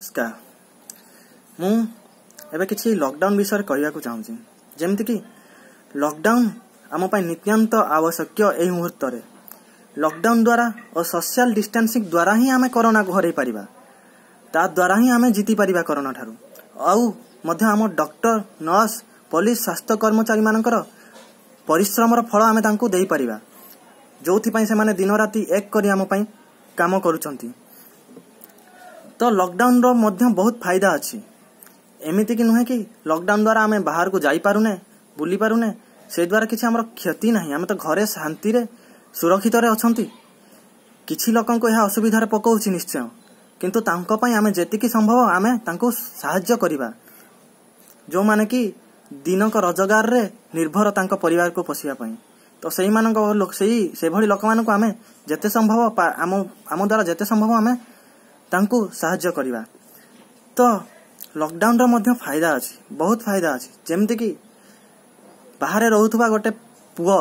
ନମସ୍କାର। ମୁଁ ଏବେ କିଛି ଲକଡାଉନ୍ ବିଷୟରେ କହିବାକୁ ଚାହୁଁଛି। ଯେମିତିକି ଲକଡାଉନ୍ ଆମ ପାଇଁ ନିତ୍ୟାନ୍ତ ଆବଶ୍ୟକୀୟ। ଏହି ମୁହୂର୍ତ୍ତରେ ଲକଡାଉନ୍ ଦ୍ୱାରା ଓ ସୋସିଆଲ ଡିଷ୍ଟାନ୍ସିଂ ଦ୍ୱାରା ହିଁ ଆମେ କରୋନାକୁ ହରାଇ ପାରିବା, ତା ଦ୍ୱାରା ହିଁ ଆମେ ଜିତିପାରିବା କରୋନା ଠାରୁ। ଆଉ ମଧ୍ୟ ଆମ ଡକ୍ଟର, ନର୍ସ, ପୋଲିସ, ସ୍ୱାସ୍ଥ୍ୟ କର୍ମଚାରୀମାନଙ୍କର ପରିଶ୍ରମର ଫଳ ଆମେ ତାଙ୍କୁ ଦେଇପାରିବା, ଯେଉଁଥିପାଇଁ ସେମାନେ ଦିନ ରାତି ଏକ କରି ଆମ ପାଇଁ କାମ କରୁଛନ୍ତି। ତ ଲକଡାଉନର ମଧ୍ୟ ବହୁତ ଫାଇଦା ଅଛି। ଏମିତିକି ନୁହେଁ କି ଲକଡାଉନ ଦ୍ୱାରା ଆମେ ବାହାରକୁ ଯାଇପାରୁନେ, ବୁଲି ପାରୁନେ, ସେ ଦ୍ୱାରା କିଛି ଆମର କ୍ଷତି ନାହିଁ। ଆମେ ତ ଘରେ ଶାନ୍ତିରେ ସୁରକ୍ଷିତରେ ଅଛନ୍ତି। କିଛି ଲୋକଙ୍କୁ ଏହା ଅସୁବିଧାରେ ପକାଉଛି ନିଶ୍ଚୟ, କିନ୍ତୁ ତାଙ୍କ ପାଇଁ ଆମେ ଯେତିକି ସମ୍ଭବ ଆମେ ତାଙ୍କୁ ସାହାଯ୍ୟ କରିବା, ଯେଉଁମାନେ କି ଦିନକ ରୋଜଗାରରେ ନିର୍ଭର ତାଙ୍କ ପରିବାରକୁ ପୋଷିବା ପାଇଁ। ତ ସେଇମାନଙ୍କ ସେଇ ସେଭଳି ଲୋକମାନଙ୍କୁ ଆମେ ଯେତେ ସମ୍ଭବ, ଆମ ଦ୍ୱାରା ଯେତେ ସମ୍ଭବ ଆମେ ତାଙ୍କୁ ସାହାଯ୍ୟ କରିବା। ତ ଲକଡାଉନର ମଧ୍ୟ ଫାଇଦା ଅଛି, ବହୁତ ଫାଇଦା ଅଛି। ଯେମିତିକି ବାହାରେ ରହୁଥିବା ଗୋଟେ ପୁଅ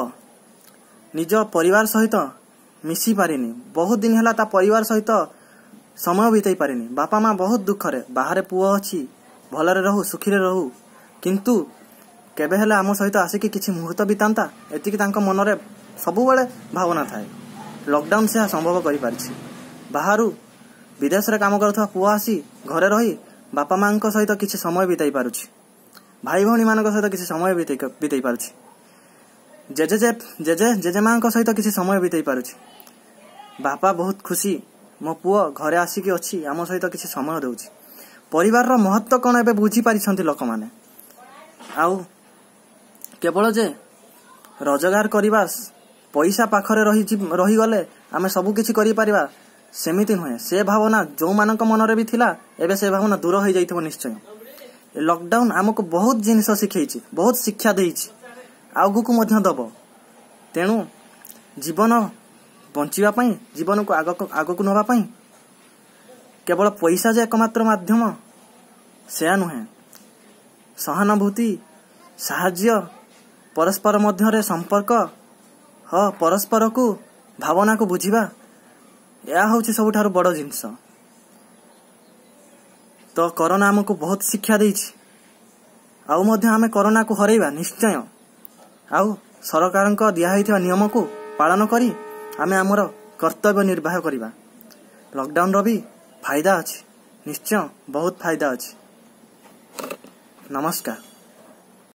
ନିଜ ପରିବାର ସହିତ ମିଶି ପାରିନି, ବହୁତ ଦିନ ହେଲା ତା ପରିବାର ସହିତ ସମୟ ବିତେଇ ପାରିନି। ବାପା ମା ବହୁତ ଦୁଃଖରେ, ବାହାରେ ପୁଅ ଅଛି, ଭଲରେ ରହୁ, ସୁଖୀରେ ରହୁ, କିନ୍ତୁ କେବେ ହେଲେ ଆମ ସହିତ ଆସିକି କିଛି ମୁହୂର୍ତ୍ତ ବିତାନ୍ତା, ଏତିକି ତାଙ୍କ ମନରେ ସବୁବେଳେ ଭାବନା ଥାଏ। ଲକଡାଉନ ସେହା ସମ୍ଭବ କରିପାରିଛି। ବାହାରୁ ବିଦେଶରେ କାମ କରୁଥିବା ପୁଅ ଆସି ଘରେ ରହି ବାପା ମାଙ୍କ ସହିତ କିଛି ସମୟ ବିତାଇ ପାରୁଛି, ଭାଇ ଭଉଣୀମାନଙ୍କ ସହିତ କିଛି ସମୟ ବିତେଇ ପାରୁଛି, ଜେଜେ ଜେଜେ ଜେଜେମାଙ୍କ ସହିତ କିଛି ସମୟ ବିତେଇ ପାରୁଛି। ବାପା ବହୁତ ଖୁସି, ମୋ ପୁଅ ଘରେ ଆସିକି ଅଛି, ଆମ ସହିତ କିଛି ସମୟ ଦେଉଛି। ପରିବାରର ମହତ୍ଵ କ'ଣ ଏବେ ବୁଝିପାରିଛନ୍ତି ଲୋକମାନେ। ଆଉ କେବଳ ଯେ ରୋଜଗାର କରିବା, ପଇସା ପାଖରେ ରହିଗଲେ ଆମେ ସବୁ କିଛି କରିପାରିବା, ସେମିତି ନୁହେଁ। ସେ ଭାବନା ଯେଉଁମାନଙ୍କ ମନରେ ବି ଥିଲା, ଏବେ ସେ ଭାବନା ଦୂର ହେଇଯାଇଥିବ ନିଶ୍ଚୟ। ଲକଡାଉନ ଆମକୁ ବହୁତ ଜିନିଷ ଶିଖେଇଛି, ବହୁତ ଶିକ୍ଷା ଦେଇଛି, ଆଗକୁ ମଧ୍ୟ ଦବ। ତେଣୁ ଜୀବନ ବଞ୍ଚିବା ପାଇଁ, ଜୀବନକୁ ଆଗକୁ ନେବା ପାଇଁ କେବଳ ପଇସା ଯେ ଏକମାତ୍ର ମାଧ୍ୟମ ସେୟା ନୁହେଁ। ସହାନୁଭୂତି, ସାହାଯ୍ୟ, ପରସ୍ପର ମଧ୍ୟରେ ସମ୍ପର୍କ, ହଁ, ପରସ୍ପରକୁ ଭାବନାକୁ ବୁଝିବା, ଏହା ହେଉଛି ସବୁଠାରୁ ବଡ଼ ଜିନିଷ। ତ କରୋନା ଆମକୁ ବହୁତ ଶିକ୍ଷା ଦେଇଛି, ଆଉ ମଧ୍ୟ ଆମେ କରୋନାକୁ ହରେଇବା ନିଶ୍ଚୟ। ଆଉ ସରକାରଙ୍କ ଦିଆହେଇଥିବା ନିୟମକୁ ପାଳନ କରି ଆମେ ଆମର କର୍ତ୍ତବ୍ୟ ନିର୍ବାହ କରିବା। ଲକଡାଉନର ବି ଫାଇଦା ଅଛି, ନିଶ୍ଚୟ ବହୁତ ଫାଇଦା ଅଛି। ନମସ୍କାର।